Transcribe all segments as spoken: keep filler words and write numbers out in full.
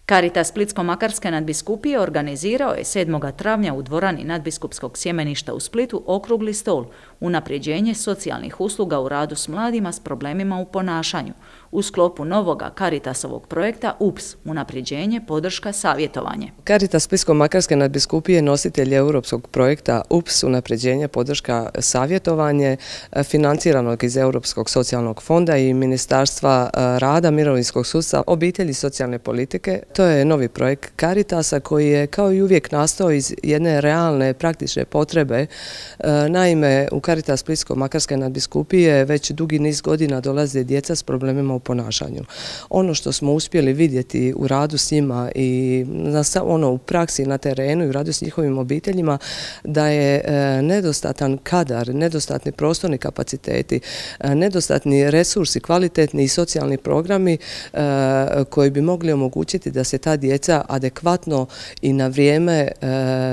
Caritas Splitsko-makarske nadbiskupije organizirao je sedmog travnja u dvorani nadbiskupskog sjemeništa u Splitu okrugli stol unapređenje socijalnih usluga u radu s mladima s problemima u ponašanju u sklopu novoga Caritasovog projekta U P S, unapređenje, podrška, savjetovanje. Caritas Splitsko-makarske nadbiskupije nositelj europskog projekta U P S, unapređenje, podrška, savjetovanje, financiranog iz Europskog socijalnog fonda i Ministarstva rada, mirovinskog sustava, obitelji i socijalne politike. To je novi projekt Caritasa koji je kao i uvijek nastao iz jedne realne praktične potrebe. Naime, u Caritas Splitsko-makarske nadbiskupije već dugi niz godina dolaze djeca s problemima u ponašanju. Ono što smo uspjeli vidjeti u radu s njima i ono u praksi na terenu i u radu s njihovim obiteljima, da je nedostatan kadar, nedostatni prostorni kapaciteti, nedostatni resursi, kvalitetni i socijalni programi koji bi mogli omogućiti da se ta djeca adekvatno i na vrijeme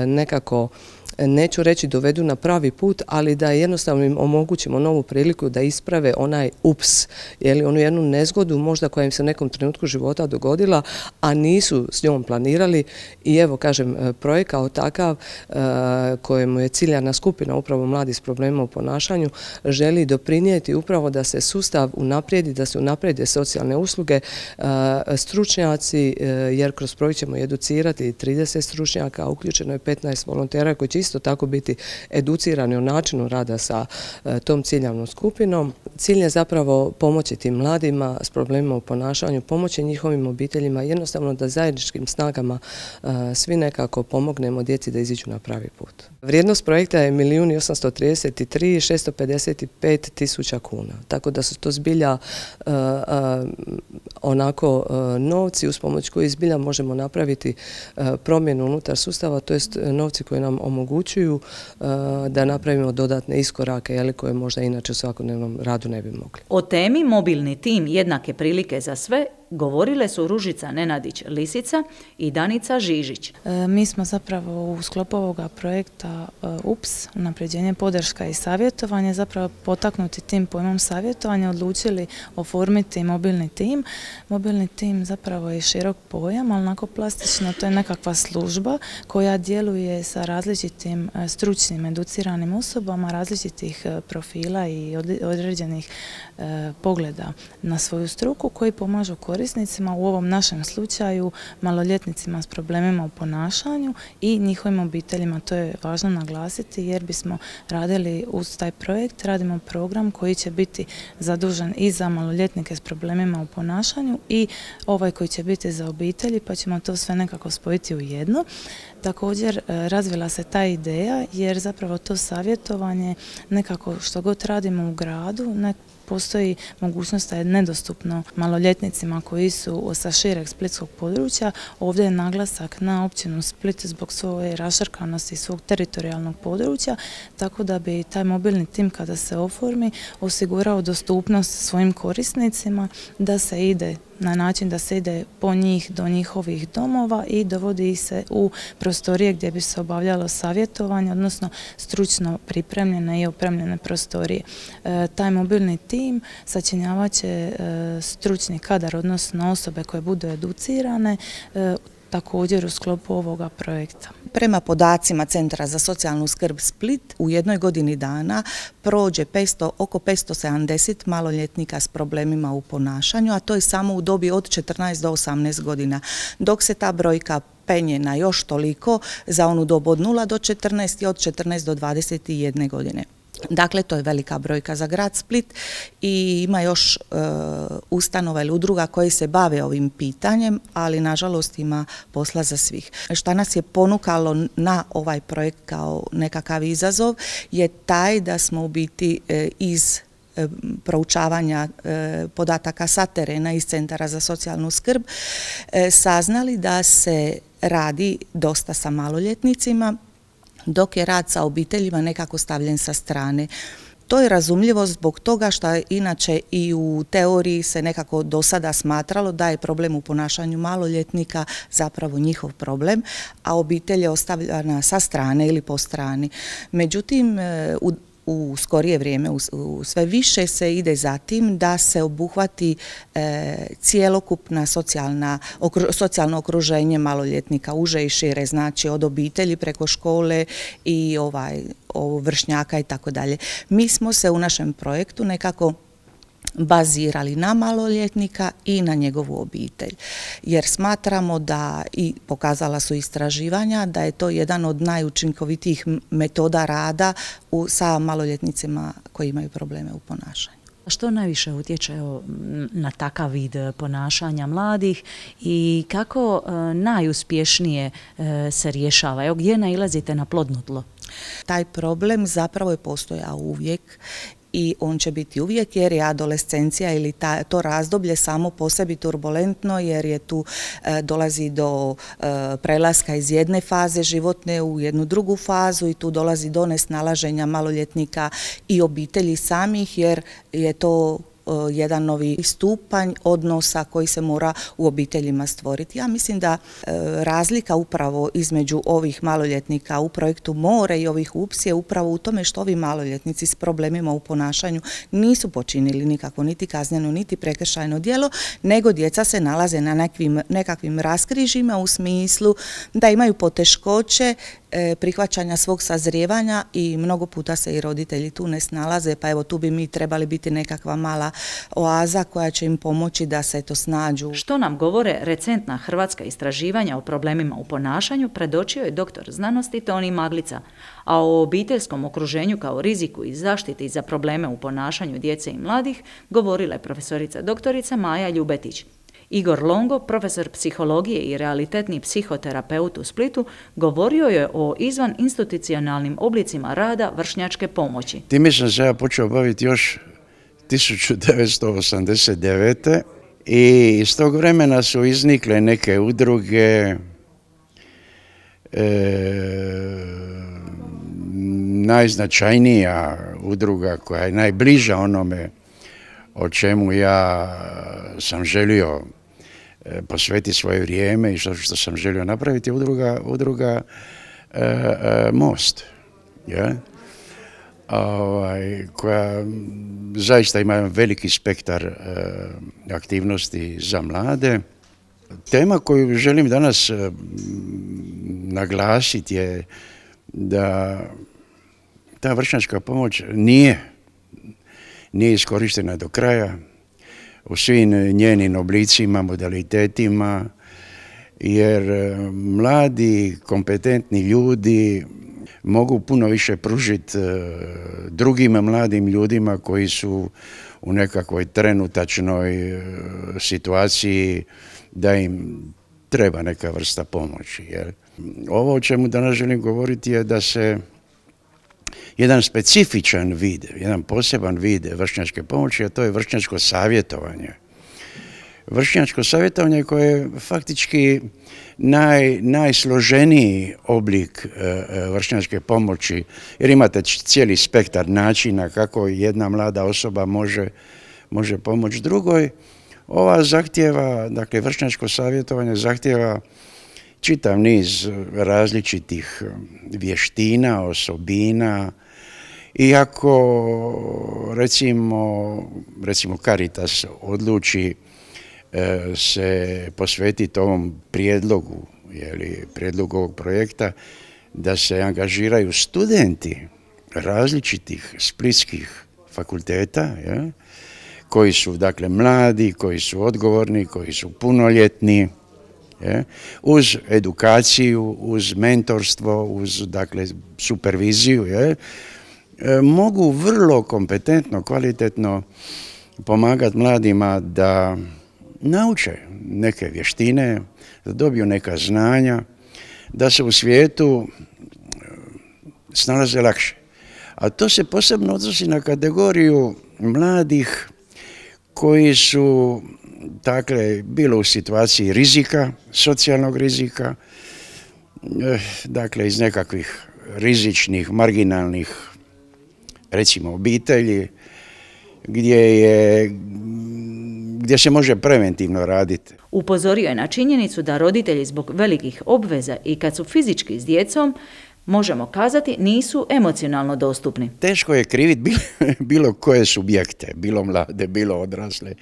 nekako, neću reći dovedu na pravi put, ali da jednostavno im omogućimo novu priliku da isprave onaj ups, ili onu jednu nezgodu možda koja im se u nekom trenutku života dogodila, a nisu s njom planirali. I evo, kažem, projekt kao takav kojemu je ciljana skupina upravo mladi s problemima u ponašanju želi doprinijeti upravo da se sustav unaprijedi, da se unaprijede socijalne usluge, stručnjaci, jer kroz projekt ćemo educirati trideset stručnjaka, uključeno je petnaest volontera koji će isto tako biti educirani o načinu rada sa tom ciljanom skupinom. Cilj je zapravo pomoći tim mladima s problemima u ponašanju, pomoći njihovim obiteljima, jednostavno da zajedničkim snagama svi nekako pomognemo djeci da iziđu na pravi put. Vrijednost projekta je milijun osamsto trideset tri tisuće šesto pedeset pet tisuća kuna, tako da su to zbilja uh, uh, onako uh, novci uz pomoć koji zbilja možemo napraviti uh, promjenu unutar sustava, to jest novci koji nam omogućuju uh, da napravimo dodatne iskorake, jeli, koje možda inače u svakodnevnom radu ne bi mogli. O temi mobilni tim jednake prilike za sve govorile su Ružica Nenadić-Lisica i Danica Žižić. E, mi smo zapravo u sklopu ovoga projekta e, U P S, unapređenje, podrška i savjetovanje, zapravo potaknuti tim pojmom savjetovanja, odlučili oformiti mobilni tim. Mobilni tim zapravo je širok pojam, ali onako plastično to je nekakva služba koja djeluje sa različitim e, stručnim, educiranim osobama, različitih e, profila i od, određenih e, pogleda na svoju struku koji pomažu korisnicima, u ovom našem slučaju maloljetnicima s problemima u ponašanju i njihovim obiteljima. To je važno naglasiti jer bismo radili uz taj projekt, radimo program koji će biti zadužen i za maloljetnike s problemima u ponašanju i ovaj koji će biti za obitelji, pa ćemo to sve nekako spojiti u jedno. Također razvila se ta ideja jer zapravo to savjetovanje nekako što god radimo u gradu, ne postoji mogućnost da je nedostupno maloljetnicima koji su sa šireg splitskog područja. Ovdje je naglasak na općinu Split zbog svoje raštrkanosti i svog teritorijalnog područja, tako da bi taj mobilni tim kada se oformi osigurao dostupnost svojim korisnicima da se ide na način da se ide po njih do njihovih domova i dovodi ih se u prostorije gdje bi se obavljalo savjetovanje, odnosno stručno pripremljene i opremljene prostorije. E, taj mobilni tim sačinjavat će e, stručni kadar, odnosno osobe koje budu educirane, e, također u sklopu ovoga projekta. Prema podacima Centra za socijalnu skrb Split, u jednoj godini dana prođe petsto, oko petsto sedamdeset maloljetnika s problemima u ponašanju, a to je samo u dobi od četrnaest do osamnaest godina, dok se ta brojka penje na još toliko za onu dobu od nula do četrnaest i od četrnaest do dvadeset jedne godine. Dakle, to je velika brojka za grad Split i ima još e, ustanova ili udruga koje se bave ovim pitanjem, ali nažalost ima posla za svih. Šta nas je ponukalo na ovaj projekt kao nekakav izazov je taj da smo u biti e, iz e, proučavanja e, podataka sa terena iz Centara za socijalnu skrb e, saznali da se radi dosta sa maloljetnicima, dok je rad sa obiteljima nekako stavljen sa strane. To je razumljivo zbog toga što inače i u teoriji se nekako do sada smatralo da je problem u ponašanju maloljetnika zapravo njihov problem, a obitelj je ostavljena sa strane ili po strani. Međutim, u u skorije vrijeme u, u sve više se ide za tim da se obuhvati e, cjelokupna socijalna, okru, socijalno okruženje maloljetnika, uže i šire, znači od obitelji preko škole i ovaj, vršnjaka i tako dalje. Mi smo se u našem projektu nekako bazirali na maloljetnika i na njegovu obitelj. Jer smatramo da, i pokazala su istraživanja, da je to jedan od najučinkovitijih metoda rada u, sa maloljetnicima koji imaju probleme u ponašanju. Što najviše utječe na takav vid ponašanja mladih i kako najuspješnije se rješava? Evo, gdje nailazite na plodno tlo? Taj problem zapravo je postojao uvijek i on će biti uvijek jer je adolescencija ili ta, to razdoblje samo po sebi turbulentno jer je tu e, dolazi do e, prelaska iz jedne faze životne u jednu drugu fazu i tu dolazi do nesnalaženja maloljetnika i obitelji samih jer je to jedan novi stupanj odnosa koji se mora u obiteljima stvoriti. Ja mislim da e, razlika upravo između ovih maloljetnika u projektu More i ovih U P S je upravo u tome što ovi maloljetnici s problemima u ponašanju nisu počinili nikako niti kazneno niti prekršajno djelo, nego djeca se nalaze na nekakvim, nekakvim raskrižjima u smislu da imaju poteškoće prihvaćanja svog sazrijevanja i mnogo puta se i roditelji tu ne snalaze, pa evo tu bi mi trebali biti nekakva mala oaza koja će im pomoći da se to snađu. Što nam govore recentna hrvatska istraživanja o problemima u ponašanju, predočio je doktor znanosti Toni Maglica, a o obiteljskom okruženju kao riziku i zaštiti za probleme u ponašanju djece i mladih govorila je profesorica doktorica Maja Ljubetić. Igor Longo, profesor psihologije i realitetni psihoterapeut u Splitu, govorio je o izvan institucionalnim oblicima rada vršnjačke pomoći. Time sam se ja počeo baviti još tisuću devetsto osamdeset devete. i iz tog vremena su iznikle neke udruge, e, najznačajnija udruga koja je najbliža onome o čemu ja sam želio posvetiti svoje vrijeme i što, što sam želio napraviti, udruga, udruga e, e, Most, ja? Ovaj, koja zaista ima veliki spektar e, aktivnosti za mlade. Tema koju želim danas e, naglasiti je da ta vršnjačka pomoć nije, nije iskorištena do kraja u svim njenim oblicima, modalitetima, jer mladi, kompetentni ljudi mogu puno više pružiti drugim mladim ljudima koji su u nekakvoj trenutačnoj situaciji da im treba neka vrsta pomoći. Jer ovo o čemu danas želim govoriti je da se jedan specifičan vid, jedan poseban vid vršnjačke pomoći, a to je vršnjačko savjetovanje. Vršnjačko savjetovanje koje je faktički naj, najsloženiji oblik e, vršnjačke pomoći, jer imate cijeli spektar načina kako jedna mlada osoba može, može pomoći drugoj. Ova zahtjeva, dakle vršnjačko savjetovanje zahtjeva čitav niz različitih vještina, osobina. Iako recimo, recimo Caritas odluči e, se posvetiti ovom prijedlogu, jeli, prijedlogu ovog projekta, da se angažiraju studenti različitih splitskih fakulteta, je, koji su dakle mladi, koji su odgovorni, koji su punoljetni, je, uz edukaciju, uz mentorstvo, uz dakle superviziju, je, mogu vrlo kompetentno, kvalitetno pomagati mladima da nauče neke vještine, da dobiju neka znanja, da se u svijetu snalaze lakše. A to se posebno odnosi na kategoriju mladih koji su dakle bilo u situaciji rizika, socijalnog rizika, dakle iz nekakvih rizičnih, marginalnih recimo obitelji, gdje, je, gdje se može preventivno raditi. Upozorio je na činjenicu da roditelji zbog velikih obveza i kad su fizički s djecom, možemo kazati nisu emocionalno dostupni. Teško je kriviti bilo, bilo koje subjekte, bilo mlade, bilo odrasle,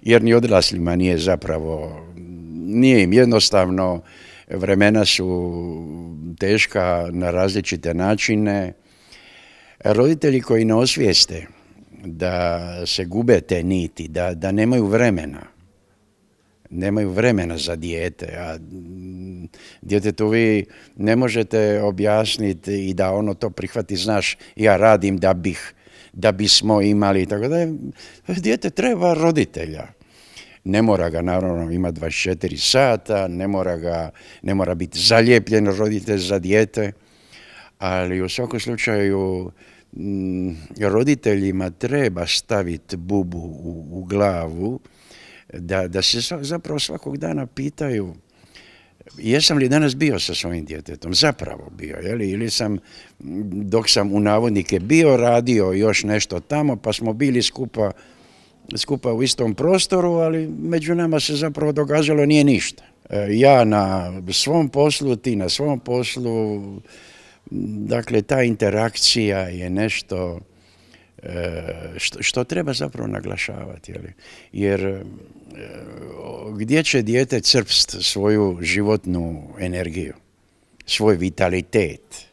jer ni odraslima nije zapravo, nije im jednostavno, vremena su teška na različite načine. Roditelji koji ne osvijeste da se gube te niti, da, da nemaju vremena, nemaju vremena za dijete, a djetetu vi ne možete objasniti i da ono to prihvati, znaš, ja radim da bih, da bismo imali, tako da dijete treba roditelja. Ne mora ga naravno imati dvadeset četiri sata, ne mora, ga, ne mora biti zalijepljen roditelj za dijete, ali u svakom slučaju m, roditeljima treba staviti bubu u, u glavu, da, da se zapravo svakog dana pitaju jesam li danas bio sa svojim djetetom, zapravo bio, jeli? Ili sam, dok sam u navodnike bio, radio još nešto tamo, pa smo bili skupa, skupa u istom prostoru, ali među nama se zapravo događalo nije ništa. Ja na svom poslu, ti na svom poslu, dakle ta interakcija je nešto što, što treba zapravo naglašavati. Jeli? Jer gdje će dijete crpst svoju životnu energiju, svoj vitalitet?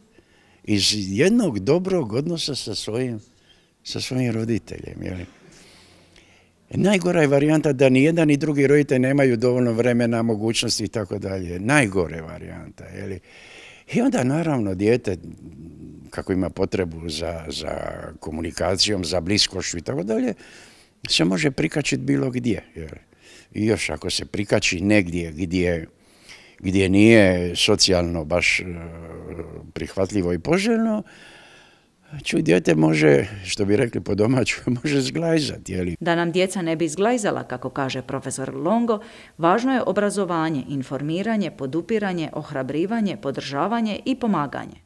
Iz jednog dobrog odnosa sa svojim, sa svojim roditeljem. Jeli? Najgora je varijanta da ni jedan ni drugi roditelj nemaju dovoljno vremena, mogućnosti i tako dalje. Najgore varijanta. Jeli? I onda naravno dijete, kako ima potrebu za, za komunikacijom, za bliskošću i tako dalje, se može prikačiti bilo gdje. Jeli? I još ako se prikači negdje gdje, gdje nije socijalno baš prihvatljivo i poželjno, čuj, dijete može, što bi rekli po domaću, može zglajzati. Jeli? Da nam djeca ne bi zglajzala, kako kaže profesor Longo, važno je obrazovanje, informiranje, podupiranje, ohrabrivanje, podržavanje i pomaganje.